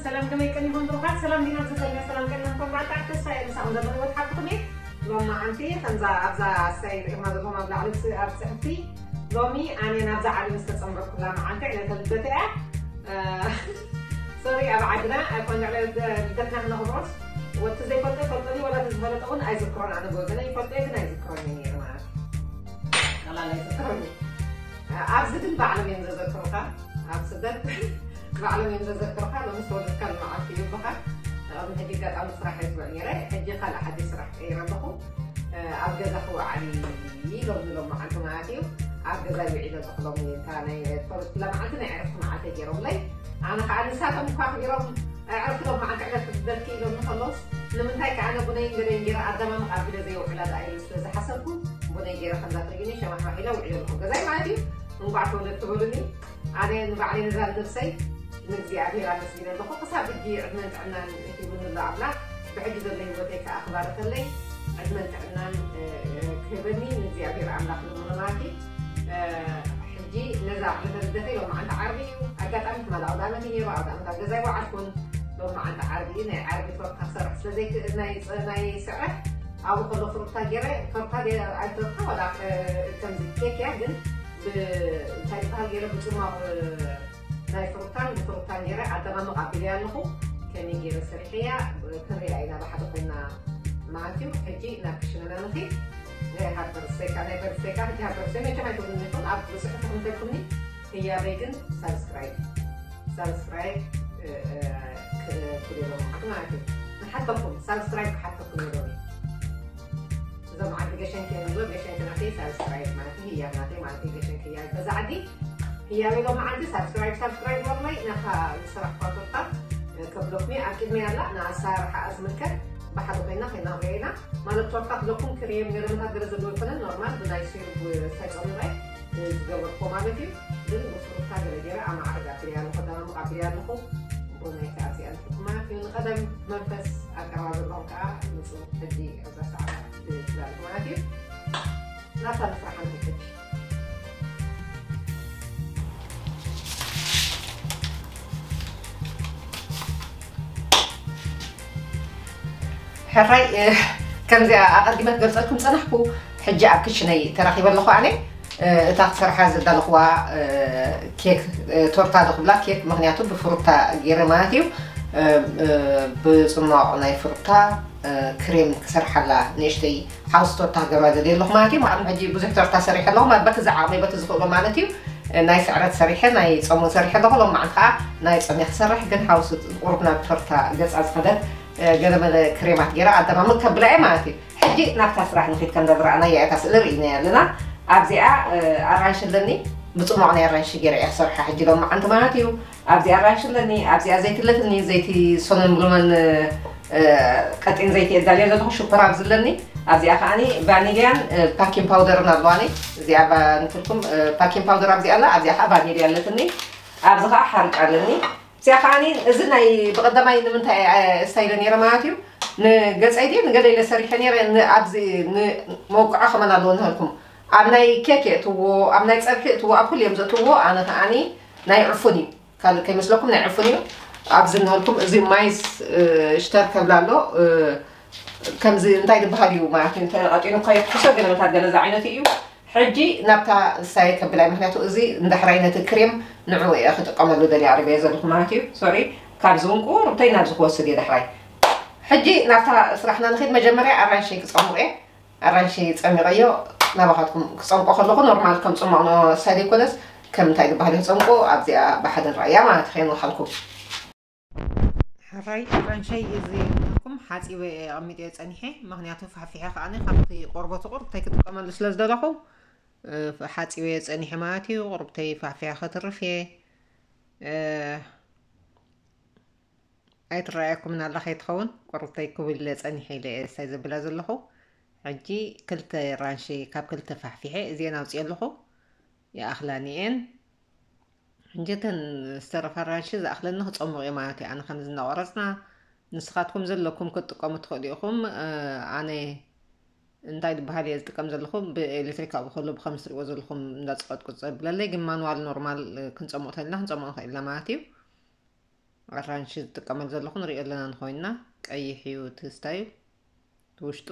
ሰላም ከመይ ቀኒኹም ብሩኻት? ሰላም ዲና ዘሰለና ሰላም ቀኒኹም ብሩኻት? ተስፋ እየ ምሳኹም ዘሎ ህይወት ሓቅኹም እየ። ሎሚ መዓልቲ ከምዛ ኣብዛ ሳይ ርኢኹማ ዘለኹም ኣብ ላዕሊ ስ-፣ ኣብ ጽሕፍቲ ሎሚ ኣነ ናብዛ ዓለም ዝተጸንበርኩላ መዓልቲ ዕለተ ልደት እያ። እ፣ ሶሪ ኣብ ዓድና ኣይኮነ ዕለተ ልደትና ክነኽብሮስ ወቲ ዘይፈልጦ ይፈልጦኒ ወላ እቲ ዝፈለጠ እውን ኣይዝክሮን ኣነ ብወገነ ይፈልጦ ግን ኣይዝክሮን እዩ ነይሩ ማለት እዩ። ቀላል ኣይዝክሮን እዩ። ኣብዚ ግን ባዕሎም እዮም ዘዘክሩኻ ኣብ ስደት ባዕሎም እዮም ዘዘክሩኻ ሎሚ ዝተወለድካሉ መዓልቲ ይብሉኻ። ቅድሚ ሕጂ ኣጋጣሚ ስራሕ እየ ዝውዕል ነይረ ሕጂ ካልእ ሓድሽ ስራሕ ቀይረ ኣለኹ። ኣብ ገዛ ክውዓል ኢሎም ንሎም መዓልቲ ማለት እዩ። ኣብ ገዛ ይውዒል ኣለኹ ሎሚ እታ ናይ ተወለድኩላ መዓልቲ ናይ ዕረፍቲ መዓልቲ ገይሮምለይ። ኣነ ከዓ ንሳቶም እኳ ክቢሮም ዕረፍቲ ሎም መዓልቲ ዕረፍቲ ክበልኪ ኢሎም ንከለውስ ንምንታይ ከዓ ኣነ ቡነይን ገለይን ገይረ ኣደማምቕ ኣቢለ ዘይውዕላ ደኣ ኢሉ ስለ ዝሓሰብኩ ቡነይ ገይረ ከምዛ ትርእዩኒ ሸማሕማሕ ኢለ ውዒለ ኣለኹ ገዛይ ማለት እዩ። እንቋዕ ተወለድኪ በሉኒ። ኣነ ንባዕለይ ነዛ ነብሰይ ንእግዚኣብሔር ኣመስግነ ኣለኹ። ክሳብ ሕጂ ዕድመን ጥዕናን ሂቡኒ ኣሎ ኣምላኽ። ብሕጂ ዘሎ ህይወተይ ከኣ ክባርኸለይ ዕድመን ጥዕናን፣ እ፣ እ፣ ክህበኒ ንእግዚኣብሔር ኣምላኽ ልምኖ ማለት እዩ። እ፣ ሕጂ ነዛ ዕለተ ልደተይ ሎማዓንቲ ዓርቢ እዩ። ኣጋጣሚ ትማሊ ኣውደ ኣመት እዩ ነይሩ። ኣውደ ኣመት ኣብ ገዛ ኣይወዓልኩን። ሎማዓንቲ ዓርቢ እዩ። ናይ ዓርቢ ቶርታ ክሰርሕ ስለ ዘይክእል ናይ ጸ-፣ ናይ ስዕረት ኣብኡ ከሎ ፍሩታ ገይረ፣ ቶርታ ገይረ፣ ኣይ ቶርታ ዋላ፣ እ፣ ከምዚ ኬክ እያ፣ ግን ብ-፣ እንታይ ይበሃል ገይረ ብጽማቕ፣ እ፣ ናይ ፍሩታን ብፍሩታን ገይረ ኣደማምቕ ኣቢለያ ኣለኹ። ከመይ ገይረ ሰሪሐያ፣ ብ-፣ ክንሪኣ ኢና ብሓደ ኮይና ማለት እዩ። ሕጂ ናብ ክሽነና ንኺድ። ናይ ሃርቨርሰይ ከኣ፣ ናይ በርሰይ ከኣ፣ ሕጂ ሃርቨርሰይ መቸም ኣይትብሉኒ ኢኹም፣ ኣብ ጽሑፍ ተቐምጠልኩምኒ። ህያበይ ግን ሳብስክራይብ፣ ሳብስክራይብ፣ እ፣ እ፣ ክ-፣ ክብለሎም ማለት እዩ። ንሓተኩም፣ ሳብስክራይብ ክሓተኩም ኢሎም እዩ። እዞም ዓዲ ገሸንኪ እዮም ዝብሎ፣ ገሸንኪ ናተይ ሳብስክራይብ ማለት እዩ፣ ህያብ ናተይ ማለት እዩ፣ ገሸንኪ ህያብ በዛ ዓዲ ህያብ ኢሎም መዓልቲ ሳብስክራይብ፣ ሳብስክራይብ ወርለይ ናታ ዝሰራሕኳ ቶርታ፣ እ፣ ከብለኩም እየ። ኣብ ቅድመይ ኣላ፣ ንኣሰራርሓኣ ዝምልከት ብሓደ ኮይና ከይናርያ ኢና። ማለት ቶርታ ክብለኩም ክሬም ገለመታት ገለ ዘለዎ ኣይኮነን፣ ኖርማል ብናይ ሲሩፕ ሳይጸምረ ዝገበርኩ ማለት እዩ። ግን ብፍሩታ ገለ ገይረ ኣማዕርግ ኣቢለያ ኣለኹ፣ ደማምቕ ኣቢለያ ኣለኹ። ቡነይ ከኣ ኣብዚኣ ንሕኩማ እዩ። ንቐደም መንፈስ ኣቀራርባ ዘለኹም ከኣ ንጹር ሕጂ ኣብዛ ሰዓት ትላለኹ ማለት እዩ። ናብታ ንስራሕ ንሕጂ። ሕራይ፣ እ፣ ከምዚኣ ኣቐዲመ ክገልጸልኩም ጸናሕኩ። ሕጂ ኣብ ክሽነይ ተራኺበ ኣለኹ ኣነ። እ፣ እታ ክሰርሓ ዘዳለኹዋ፣ እ፣ ኬክ፣ እ፣ ቶርታ ዶ ክብላ ኬክ፣ ምኽንያቱ ብፍሩታ ገይረ ማለት እዩ። እ፣ እ፣ ብጽማቕ ናይ ፍሩታ፣ እ፣ ክሬም ክሰርሓላ ንእሽተይ ሓውሲ ቶርታ ክገብራ ደልየ ኣለኹ ማለት እዩ። ማለት ሕጂ ብዙሕ ቶርታ ሰሪሐ ኣለኹ፣ ማለት በቲ ዝዓቕመይ፣ በቲ ዝኽእሎ ማለት እዩ። እ፣ ናይ ስዕረት ሰሪሐ፣ ናይ ጾም እውን ሰሪሐ ኣለኹ። ሎማዓንቲ ከኣ ናይ ጾም እየ ክሰርሕ፣ ግን ሓውሲ ቁሩብ ናብ ቶርታ ገጻ ዝኸደት፣ እ፣ ገለመለ ክሬማት ገይረ ኣደማምቕ ከብላ እየ ማለት እዩ። ሕጂ ናብታ ስራሕ ንኺድ፣ ከምዛ ዝረኣናያ እታ ስእሊ ርኢናያ ኣለና። ኣብዚኣ፣ እ፣ ኣራንሺ ኣለኒ፣ ብጽሟቕ ናይ ኣራንሺ ገይረ እየ ክሰርሓ ሕጂ ሎማዓንቲ ማለት እዩ። ኣብዚኣ ኣራንሺ ኣለኒ፣ ኣብዚኣ ዘይቲ ኣለትኒ፣ ዘይቲ ሶነን ብሉመን፣ እ፣ እ፣ ቀጢን ዘይቲ እየ ዳልዮ ዘለኹ፣ ሽኮር ኣብዚ ኣለኒ። ኣብዚኣ ከኣኒ ቫኒልያን፣ እ፣ ፓኪን ፓውደርን ኣለዋኒ። እዚኣ ባ-፣ ንትልኩም፣ እ፣ ፓኪን ፓውደር ኣብዚኣ ኣላ፣ ኣብዚኣ ከኣ ቫኒልያ ኣለትኒ። ኣብዚ ከኣ ሓርጭ ኣለኒ። እዚኣ ከኣኒ፣ እዚ ናይ ብቐዳማይ ንምንታይ፣ እ፣ ስታይለ ነይረ ማለት እዩ። ንገጸይ ድየ ንገለ ኢለ ሰሪሐ ነይረ፣ ን-፣ ኣብዚ ንመውቅዖ ከመን ኣለዎ ንሃልኩም። ኣብ ናይ ኬክ የእትዎ፣ ኣብ ናይ ጸብሒ የእትዎ፣ ኣብ ኩሉ እዮም ዘእትዎ። ኣነ ከኣኒ ናይ ዕፉን እዩ። ካልእ ከይመስለኩም ናይ ዕፉን እዩ። ኣብዚ ንሃልኩም፣ እዚ ማይስ፣ እ፣ ሽተር ከብላ ኣሎ። እ፣ ከምዚ እንታይ ዝበሃል እዩ ማለት እዩ። እንተ ቀጢኑ እኳ የፍኩሶ፣ ገለመታት ገለ ዝዓይነቱ እዩ። ሕጂ ናብታ ንሳየ ከብላይ፣ ምኽንያቱ እዚ ንዳሕራይ ነቲ ክሬም ንዕኡ እየ ክጥቀመሉ ደልየ ኣቕሪበዮ ዘለኹ ማለት እዩ። ሶሪ፣ ካብዚ እውን ቁሩብተይ ናብዚ ክወስድ እየ ዳሕራይ። ሕጂ ናብታ ስራሕና ንኺድ። መጀመርያ ኣራንሺ ክጸምቕ እየ። ኣራንሺ ጸሚቐዮ ናባኻትኩም ክጸምቆ ከለኹ ኖርማል ከም ጽሟቕ ኖ ሳይድ ኣይኮነስ ከም እንታይ ዝበሃል እዩ ክጸምቆ ኣብዚኣ ብሓደ ንረኣያ ማለት እዩ። ከየንውሓልኩም። ሕራይ ኣራንሸይ እዚ ኢልኩም ሓጺበ እየ ኣቐሚጠዮ ጸኒሐ፣ ምኽንያቱ ፋሕፊሐ ከኣኒ ካብቲ ቆርበቱ ቁርብተይ ክጥቀመሉ ስለ ዝደለኹ፣ እ፣ ሓጺበዮ ጸኒሐ ማለት እዩ። ቁርብተይ ፋሕፊሐ ከትርፍ እየ። እ፣ ኣይትረኣየኩምን ኣላ ከይትኸውን፣ ቁርብተይ ክብል ኢለ ጸኒሐ ኢለ እየ እሳይ ዘብላ ዘለኹ። ሕጂ ክልተ ኣራንሺ ካብ ክልተ ፋሕፊሐ እዚአን ኣውፅኤ ኣለኹ። ይኣኽላኒ እየን። ሕጂ እተን ዝተረፋ ኣራንሺ ዝኣኽለኒ ክጸሙቕ እየ ማለት እዩ። ኣነ ከምዚ እናቖረጽና ንስኻትኩም ዘለኩም ክትጥቀሙ ትኽእሉ ኢኹም። እ፣ ኣነ እንታይ ዝበሃል እየ ዝጥቀም ዘለኹ? ብኤሌክትሪክ ኣብኡ ከሎ ብኸምዚ ትሪእዎ ዘለኹም እንዳጸቐጥቁጥ ዘብለለይ፣ ግን ማኑዋል ኖርማል፣ እ፣ ክንጸምቕ ተልና ክንጸምቕ ንኽእል ኢና ማለት እዩ። ኣራንሺ ዝጥቀመሉ ዘለኹ ንሪኦ ኣለና። እንኾይንና ቀይሕ እዩ እቲ ስታዩ፣ እቲ ውሽጡ።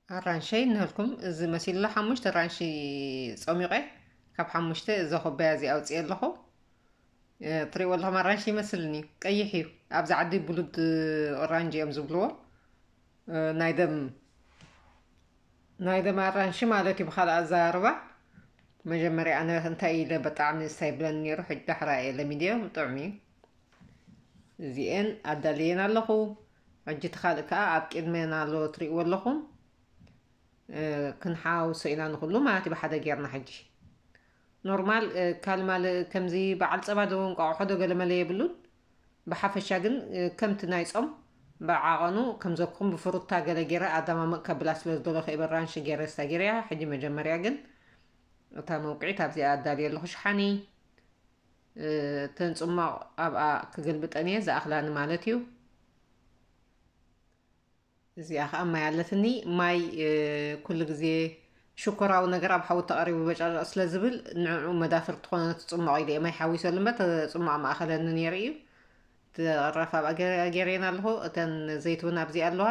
ኣራንሸይ እንሀልኩም፣ እዚ መሲሉ ኣሎ። ሓሙሽተ ኣራንሺ ጸሚቐ፣ ካብ ሓሙሽተ እዛ ኩባያ እዚ ኣውፅኤ ኣለኹ። እ፣ ትሪእዎ ኣለኹም፣ ኣራንሺ ይመስልኒ፣ ቀይሕ እዩ። ኣብዚ ዓዲ ብሉድ ኦራንጅ እዮም ዝብልዎ። እ፣ ናይ ደም፣ ናይ ደም ኣራንሺ ማለት እዩ ብኻልእ ኣዘራርባ። መጀመርያ ኣነ እንታይ ኢለ ብጣዕሚ ስታይ ብለኒ ነይሩ፣ ሕጂ ዳሕራ እየ ለሚደዮ፣ ጥዑም እዩ። እዚኤን ኣዳልየን ኣለኹ። ሕጂ እቲ ካልእ ከኣ ኣብ ቅድሜና ኣሎ፣ ትሪእዎ ኣለኹም። እ፣ ክንሓውሶ ኢና ንኹሉ ማለት እዩ ብሓደ ጌርና። ሕጂ ኖርማል፣ እ፣ ካልማል ከምዚ በዓል ጸባ ዶ እንቋቑሖ ዶ ገለመለ የብሉን። ብሓፈሻ ግን፣ እ፣ ከምቲ ናይ ጾም ብዓቐኑ ከምዘኩም ብፍሩታ ገለ ጌረ ኣደማምቕ ከብላ ስለ ዝደለኹ እየ በራንሺ ጌረ ስታ ጌረያ። ሕጂ መጀመርያ ግን እታ መውቅዒት ኣብዚኣ ኣዳልየ ኣለኹ ሽሓኒ። እ፣ እተን ጽማቕ ኣብኣ ክግልብጠን እየ፣ ዝኣኽላኒ ማለት እዩ። እዚኣ ኸኣ ማይ ኣለትኒ። ማይ፣ እ፣ ኩሉ ግዜ ሽኮራዊ ነገር ኣብ ሓዊ ተቐሪቡ በጨርቕ ስለ ዝብል፣ ንዕኡ መዳፍር ትኾነ ነቲ ጽማቕ ኢለ እየ ማይ ሓዊሰሉ እምበር፣ እቲ ጽማቕ ምኣኸለኒ ነይሩ እዩ። እቲ ቕራፍ ኣብኣ ገ-፣ ገይረየን ኣለኹ። እተን ዘይትውን ኣብዚ ኣለዋ።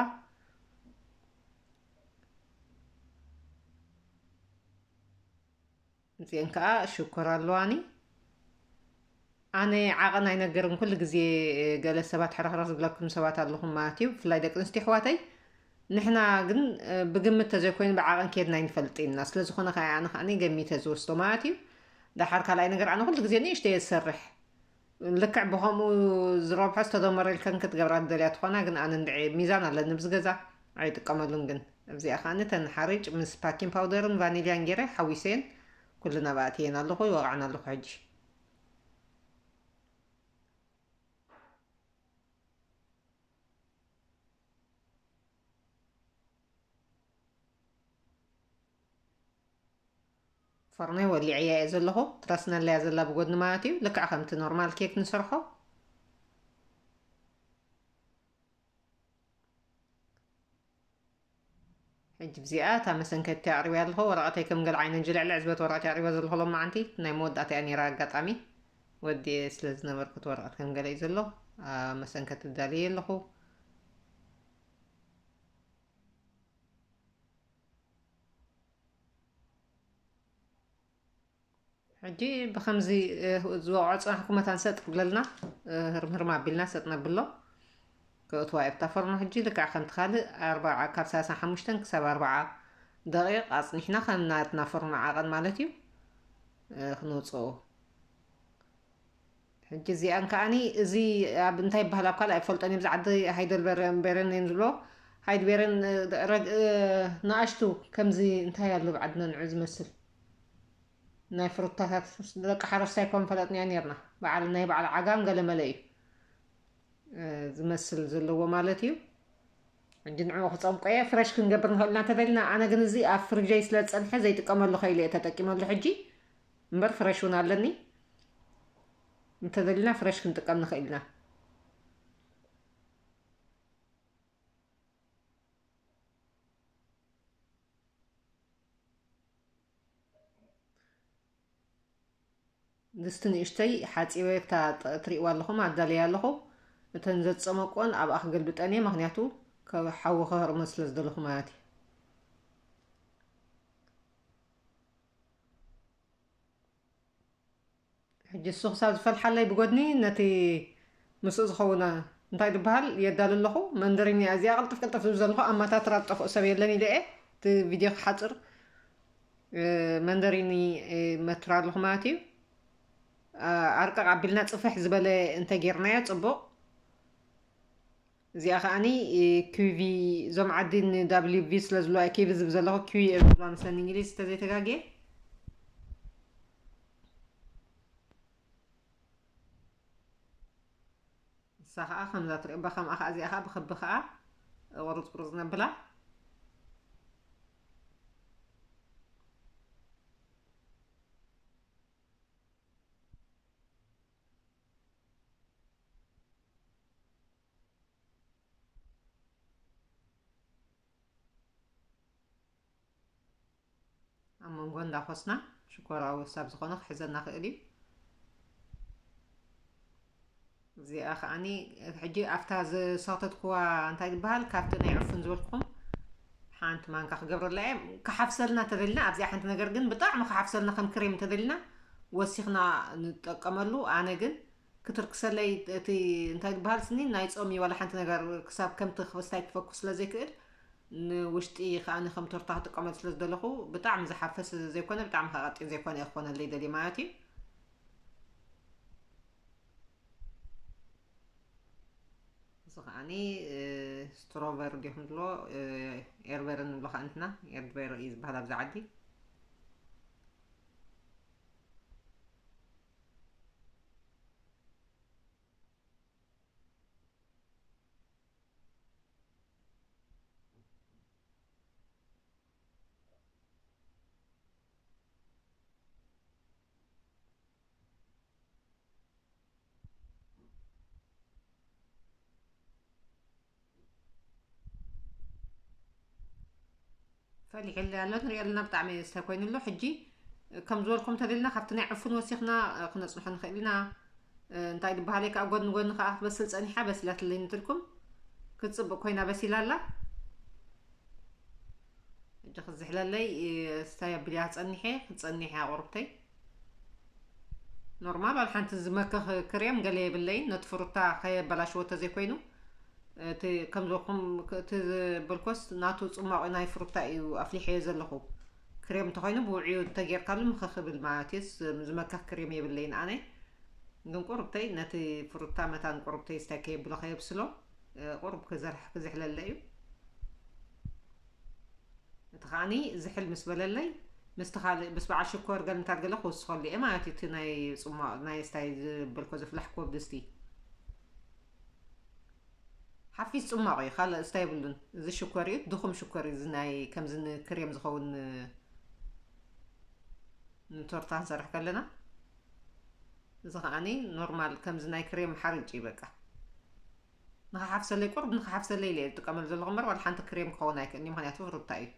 እዚአን ከኣ ሽኮር ኣለዋኒ። ኣነ ዓቐን ኣይነገርን፣ ኩሉ ግዜ ገለ ሰባት ሕርኽርኽ ዝብለኩም ሰባት ኣለኹም ማለት እዩ፣ ብፍላይ ደቂ ኣንስትዮ ኣሕዋተይ። ንሕና ግን፣ እ፣ ብግምት ተዘይኮይኑ ብዓቐን ኬድና ኣይንፈልጥን ኢና። ስለ ዝኾነ ከኣ ኣነ ከኣ ገሚተ ዝወስዶ ማለት እዩ። ደሓር ካልኣይ ነገር ኣነ ኩሉ ግዜ ንእሽተ እየ ዝሰርሕ። ልክዕ ብኸምኡ ዝረብሖ ዝተደመረ ኢልከን ክትገብራ ትደልያ ትኾና፣ ግን ኣነ እንድዒ ሚዛን ኣለኒ ኣብዚ ገዛ፣ ኣይጥቀመሉን። ግን እዚኣ ከኣ እተን ሓርጭ ምስ ባኪንግ ፓውደርን ቫኒልያን ገይረ ሓዊሰየን ኩለን ኣብኣ ኣእትየን ኣለኹ፣ ይወቕዐን ኣለኹ ሕጂ። ፈርኖይ ወሊዐያ እየ ዘለኹ። ትረስነለያ ዘላ ብጎድኒ ማለት እዩ። ልክዕ ከምቲ ኖርማል ኬክ ንሰርሖ። ሕጂ ብዚኣ እታ መሰንከቲ ኣቕሪበያ ኣለኹ። ወረቐተይ ከም ገለ ዓይነት ጅልዕልዕ ዝበለት ወረቐት ኣቕሪበ ዘለኹ ሎማዓንቲ። ናይ መወዳእታ እያ ነይራ ኣጋጣሚ። ወዲኤ ስለ ዝነበርኩ እቲ ወረቐት ከም ገለ እዩ ዘሎ። ኣብ መሰንከቲ ኣዳልየ ኣለኹ። ሕጂ ብኸምዚ፣ እ፣ ዝወቕዖ ጽናሕኩም መታን ሰጥ ክብለልና፣ እ፣ ህርም ህርም ኣቢልና ሰጥ ነብሎ። ከእትዋ እየ ብታ ፈርኖ ሕጂ ልክዕ ከምቲ ካልእ ኣርብዓ፣ ካብ ሰላሳ ሓሙሽተ ክሳብ ኣርብዓ ደቂቕ ኣጽኒሕና ከም ናትና ፈርኖ ዓቐን ማለት እዩ፣ እ፣ ክነውጽኦ። ሕጂ እዚኣን ከኣኒ እዚ ኣብ እንታይ ይበሃል ኣብ ካልእ ኣይፈልጦን እየ። ኣብዚ ዓዲ ሃይደልበረን ቤረን እየን ዝብሎ። ሃይድቤረን፣ እ፣ ረግ-፣ እ፣ ንኣሽቱ ከምዚ እንታይ ኣሎ ኣብ ዓድና ንዑ ዝመስል ናይ ፍሩታታት ደቂ ሓረስታይ እኮ ምፈለጥናዮ ነርና። በዓል ናይ በዓል ዓጋም ገለ መለ እዩ፣ እ፣ ዝመስል ዘለዎ ማለት እዩ። ሕጂ ንዕኡ ክጸምቆ እየ። ፍረሽ ክንገብር ንኽእል ኢና እንተደሊና። ኣነ ግን እዚ ኣብ ፍሪጀይ ስለ ዝጸንሐ ዘይጥቀመሉ ከይለ እየ ተጠቂመሉ ሕጂ። እምበር ፍረሽ እውን ኣለኒ። እንተደሊና ፍረሽ ክንጥቀም ንኽእል ኢና። ድስቲ ንእሽተይ ሓጺበ፣ እታ ጥ-፣ ትርእይዋ ኣለኹም፣ ኣዳልያ ኣለኹ። እተን ዘጸመቅወን ኣብኣ ክገልብጠን እየ፣ ምኽንያቱ ካብ ሓዊ ክህርመን ስለ ዝደለኹ ማለት እዩ። ሕጂ እሱ ክሳብ ዝፈልሓለይ ብጎድኒ ነቲ ምስኡ ዝኸውን እንታይ ዝበሃል የዳሉ ኣለኹ። መንደሪኒ እዚኣ ቅልጥፍ ቅልጥፍ ዝብል ዘለኹ ኣማታትራ ዝጠፍኦ ሰብ የለን ኢለ እየ እቲ ቪድዮ ክሓጽር፣ እ፣ መንደሪኒ፣ እ፣ መትራ ኣለኹ ማለት እዩ። እ፣ ኣርቀቕ ኣቢልና ጽፍሕ ዝበለ እንተጌርናዮ ጽቡቕ። እዚኣ ከኣኒ፣ እ፣ ኪዊ፣ እዞም ዓዲ ን ደብሊው ቪ ስለ ዝብልዋ፣ ኪዊ ዝብል ዘለኹ፣ ኪዊ እዮም ዝብልዋ መስለኒ እንግሊዝ፣ እንተዘይተጋግየ። ንሳ ኸኣ ከምዛ ትሪኦ፣ ባ-፣ ከምኣ ኸኣ እዚኣ ኸኣ ብኽቢ ኸኣ ቁርጽ ቁርጽ ነብላ። መንጎ እንዳኾስና ሽኮራዊ ክሳብ ዝኾነ ክሕዘና ክእል እዩ። እዚኣ ከዓኒ ሕጂ ኣብታ ዝሰተትኩዋ እንታይ ዝበሃል ካብቲ ናይ ዕፉን ዝበልኩኹም ሓንቲ ማንካ ክገብረላ እየ። ክሓፍሰልና ተደልና ኣብዚኣ ሓንቲ ነገር ግን ብጣዕሚ ክሓፍሰልና ከም ክሬም ተደልና ወሲኽና ንጠቀመሉ። ኣነ ግን ክትርክሰለይ እቲ እንታይ ዝበሃል ስኒ ናይ ጾም እዩ ዋላ ሓንቲ ነገር ክሳብ ከምቲ ክስታይ ክፈኩስ ስለ ዘይክእል ንውሽጢ ከዓኒ ከም ቶርታ ክጥቀመሉ ስለ ዝደለኹ ብጣዕሚ ዝሓፈስ ዘይኮነ ብጣዕሚ ከቐጢን ዘይኮነ እየ ክኾነለይ ደልየ ማለት እዩ። እዚ ከዓኒ ስትሮቨር ዲኹም ትብሎ ኤርበረ ንብሎ ከዓ ንሕና ኤርበረ እዩ ዝበሃል ኣብዚ ዓዲ። ፈሊሕለይ ኣሎ ንሪኦ ኣለና ብጣዕሚ ዝስተ ኮይኑ ኣሎ ሕጂ ከም ዝበልኩም ተደልና ካብቲ ናይ ዕፉን ወሲኽና ክነፅንሖ ንኽእል ኢና። እንታይ ዝበሃል ካብ ጎኒ ጎኒ ከዓ ክትበስል ፀኒሓ በሲላትለይ ንትልኩም ክትፅብቅ ኮይና በሲላ ኣላ። ሕጂ ክዝሕለለይ ስታይ ኣቢልያ ክፀኒሐ ክፀኒሐ ቁርብተይ። ኖርማል ዋላ ሓንቲ ዝመክኽ ክሬም ገለ የብለይን ነቲ ፍሩታ ከየበላሽዎ ተዘይኮይኑ እቲ ከምዘኹም እቲ ዝበልኮስ ናቱ ፅማቑ ናይ ፍሩታ እዩ ኣፍሊሐዮ ዘለኹ። ክሬም እንተኾይኑ ብውዕዩ ተጌርካሉ ምኽኽ ብል ማለት እዩ። ዝመክኽ ክሬም የብለይን ኣነ። ግን ቁርብተይ ነቲ ፍሩታ መታን ቁርብተይ ስታይ ከየብሎ ከየብስሎ ቁርብ ክዘርሕ ክዝሕለለ እዩ። እቲ ከዓኒ ዝሕል ምስ በለለይ ምስቲ ካልእ ምስ በዓል ሽኮር ገለ እንታይ ገለ ክውስኸሉ እየ ማለት እዩ። እቲ ናይ ፅሟቕ ናይ ስታይ ዝበልኮ ዝፍላሕክዎ ብድስቲ ሓፊስ ፅሟቕ እዩ ካልእ ስታይ የብሉን። እዚ ሽኮር እዩ ድኹም ሽኮር እዩ። እዚ ናይ ከምዚ ንክሬም ዝኸውን ንቶርታ ክንሰርሕ ከለና እዚ ከዓኒ ኖርማል ከምዚ ናይ ክሬም ሓርጭ እዩ በቃ። ንኸሓፍሰለይ ቁርብ ንኸሓፍሰለይ ኢለ እየ ዝጥቀመሉ ዘለኹ እምበር ዋላ ሓንቲ ክሬም ክኸውን ኣይክእልን እዩ ምክንያቱ ፍሩታ እዩ።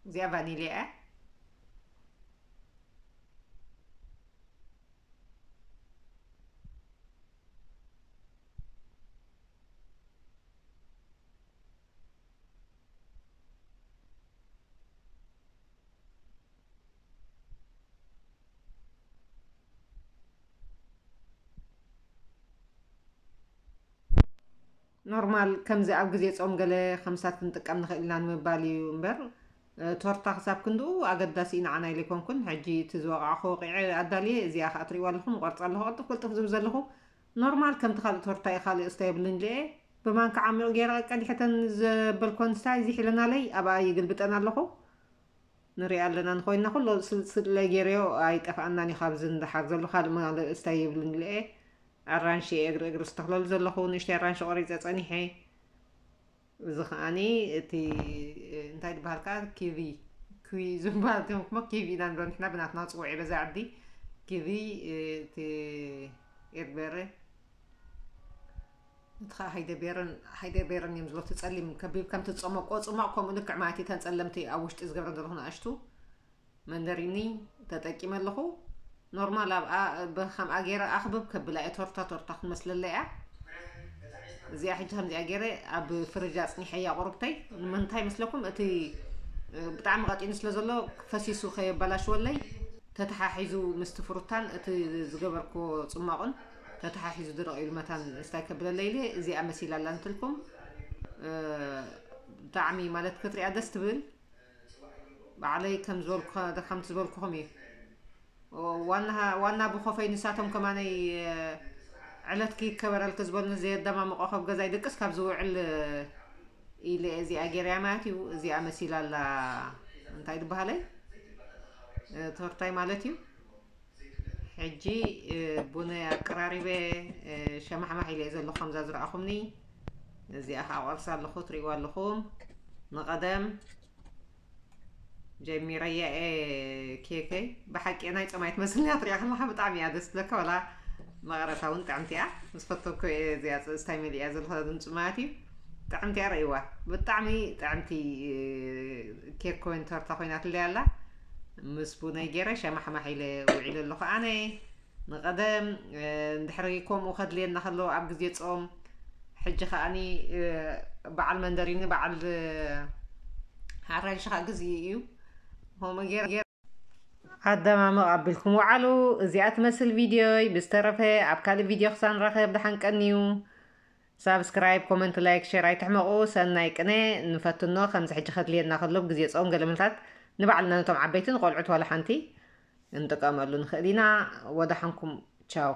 እዚኣ ቫኒልያ እያ። ኖርማል ከምዚ ኣብ ግዜ ጾም ገለ ከምሳት ክንጥቀም ንኽእል ኢና ንምባል እዩ እምበር እ፣ ቶርታ ክሳብ ክንድኡ ኣገዳሲ እዩ ንዓና ኢለ ኣይኮንኩን። ሕጂ እቲ ዝወቃዕኹ ወቂዐ ኣዳልየ እዚኣ ከዓ ትሪእዋ ኣለኹም ቆርፃ ኣለኹ ቅልጥፍ ቅልጥፍ ዝብል ዘለኹ ኖርማል ከምቲ ካልእ ቶርታ እዩ ካልእ እስታ የብልን ኢለ ብማንካ ዓሚቑ ገይረ ቀዲሐተን ዘበልኮን ስታይ ዚሒለናለይ ኣብኣ ይግልብጠን ኣለኹ። ንሪኣ ኣለና እንኾይንና ኩሎ ስልስለ ገይረዮ ኣይጠፍኣናን እዩ ካብዚ ንደሓር ዘሎ ካልእ መ- እስታይ ይብልን ኢለ ኣራንሺ እየ እግሪ እግሪ ዝተኽለሉ ዘለኹ ንእሽተይ ኣራንሺ ቆሪፀ ፀኒሐ። እዚ ከዓኒ እቲ እንታይ ዝበሃል ከዓ ኪቪ ኩዊ ዝበሃል ትምክሞ ኪቪ ኢና ንብሎ ንሕና ብናትና ፅውዒ በዛ ዓዲ ኪቪ እቲ ኤርበረ እቲ ከዓ ሃይደቤረን ሃይደቤረን እዮም ዝብሎ እቲ ፀሊም ከቢብ ከምቲ ዝፀመቆ ፅማቕ ከምኡ ልክዕ ማለት እዩ እተን ፀለምቲ ኣብ ውሽጢ ዝገብረን ዘለኹ ንኣሽቱ መንደሪኒ ተጠቂመ ኣለኹ። ኖርማል ኣብኣ ብከምኣ ገይረ ኣኽብብ ከብላ እየ ቶርታ ቶርታ ክትመስለለይ እያ። እዚኣ ሕጂ ከምዚኣ ገይረ ኣብ ፍርጅ ኣፅኒሐያ ቁርብተይ። ንምንታይ መስለኩም? እቲ ብጣዕሚ ቀጢኑ ስለ ዘሎ ፈሲሱ ከየበላሽወለይ ተተሓሒዙ ምስቲ ፍሩታን እቲ ዝገበርክዎ ፅማቑን ተተሓሒዙ ድርቕ ኢሉ መታን ስታይ ከብለለይ ኢለ እዚኣ መሲላ ኣላ እንትልኩም ብጣዕሚ ማለት ክትሪኣ ደስ ትብል። ባዕለይ ከም ዝበልኩ ከምቲ ዝበልኩኹም እዩ። ዋና ዋና ብኾፈይ ንሳቶም ከማነይ ዕለትኪ ይከበረልኪ ዝበሉኒ ዘየደማምቆ ከብ ገዛይ ድቅስ ካብ ዝውዕል ኢለ እዚኣ ገይረያ ማለት እዩ። እዚኣ መሲላ ኣላ እንታይ ዝበሃለይ ቶርታይ ማለት እዩ። ሕጂ ቡነይ ኣቀራሪበ ሸማሕማሕ ኢለ እየ ዘለኹ ከምዛ ዝረኣኹምኒ። እዚኣ ከዓ ቆርሳ ኣለኹ ትሪእዋ ኣለኹም። ንቐደም ጀሚረያ እየ ኬከይ። ብሓቂ ናይ ጸማይ ትመስልኒ እያ ትሪኣ ከለኻ ብጣዕሚ እያ ደስ ትብለካ። ዋላ መቐረታ እውን ጥዕምቲ እያ። ምስ ፈተኩ እየ እዚኣ ፅ- ስታይ መሊኣ ዘለኹ ድምፂ ማለት እዩ። ጥዕምቲ እያ ርእይዋ። ብጣዕሚ ጥዕምቲ ኬክ ኮይን ተርታ ኮይናትለይ ኣላ። ምስ ቡነይ ገይረ ሸማሕማሕ ኢለ ውዒለ ኣለኹ ኣነ። ንቐደም እንድሕሪ ከምኡ ከድልየና ከሎ ኣብ ግዜ ጾም፣ ሕጂ ከኣኒ በዓል መንደሪኒ በዓል ኣራንሺ ከዓ ግዜ እዩ። ከምኡ ገይረ ኣደማምቕ ኣቢልኩም ውዓሉ። እዚኣ ትመስል ቪድዮይ። ብዝተረፈ ኣብ ካልእ ቪድዮ ክሳብ ንራኸብ ደሓን ቀንዩ። ሳብስክራይብ፣ ኮመንት፣ ላይክ፣ ሼር ኣይትሕመቑ። ሰናይ ቅነ ንፈትኖ ከምዚ ሕጂ ከድልየና ከሎ ብግዜ ጾም ገለ ምልታት ንባዕልና ነቶም ዓበይቲ ንቆልዑት ዋላ ሓንቲ እንጥቀመሉ ንኽእል ኢና። ወዳሓንኩም ቻው።